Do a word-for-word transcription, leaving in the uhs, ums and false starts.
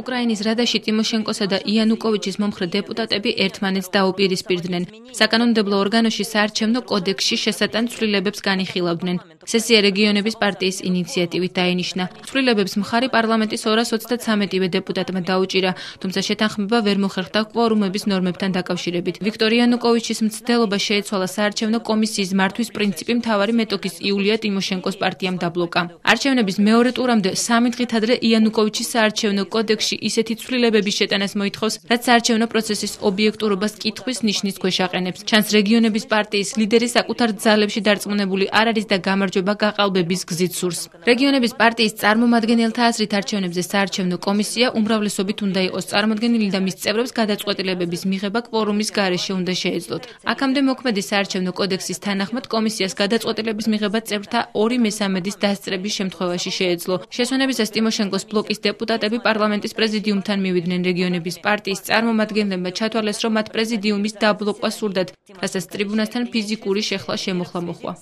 უკრაინის რადაში ტიმოშენკოსა და იანუკოვიჩის მომხრე დეპუტატები ერთმანეთს დაუპირისპირდნენ. საკანონმდებლო ორგანოში საარჩევნო კოდექსში შესატან ცვლილებებს განიხილავდნენ. სესია რეგიონების პარტიის ინიციატივით დაინიშნა. ცვლილებებს მხარი პარლამენტის ორას ოცდათრამეტივე დეპუტატმა დაუჭირა, თუმცა შეთანხმება ვერ მოხერხდა კვორუმების ნორმებთან დაკავშირებით. ვიქტორ იანუკოვიჩის მცდელობა შეეცვალა საარჩევნო კომისიის მართვის პრინციპი მთავარი მეტოქის იულია ტიმოშენკოს პარტიამ დაბლოკა. არჩევნების მეორე ტურამდე სამი დღით ადრე იანუკოვიჩის საარჩევნო კოდექსში ისეთი ცვლილებების შეტანას მოითხოვს, რაც საარჩევნო პროცესის ობიექტურობას კითხვის ნიშნის ქვეშ აყენებს. ჩანს რეგიონების პარტიის ლიდერი საკუთარ ძალებში დარწმუნებული არ არის და გამარჯვება გაყალბების გზით სურს. რეგიონების პარტიის წარმომადგენელთა აზრით არჩევნებზე საარჩევნო კომისია უმრავლესობით უნდა იყოს წარმოდგენილი და მის წევრებს გადაწყვეტილებების მიღება კვორუმის გარეშე უნდა შეეძლოთ. აქამდე მოქმედი საარჩევნო კოდექსის თანახმად კომისიას გადაწყვეტილების მიღება წევრთა ორი მესამედის დასწრების შემთხვევაში შეეძლო. შესვენებისას ტიმოშენკოს ბლოკის დეპუტატები პარლამენტის პრეზიდიუმთან მივიდნენ. რეგიონების პარტიის წარმომადგენლებმა ჩათვალეს, რომ მათ პრეზიდიუმის დაბლოკვა სურდათ, რასაც ტრიბუნასთან ფიზიკური შეხლა შემოხლა მოხვა.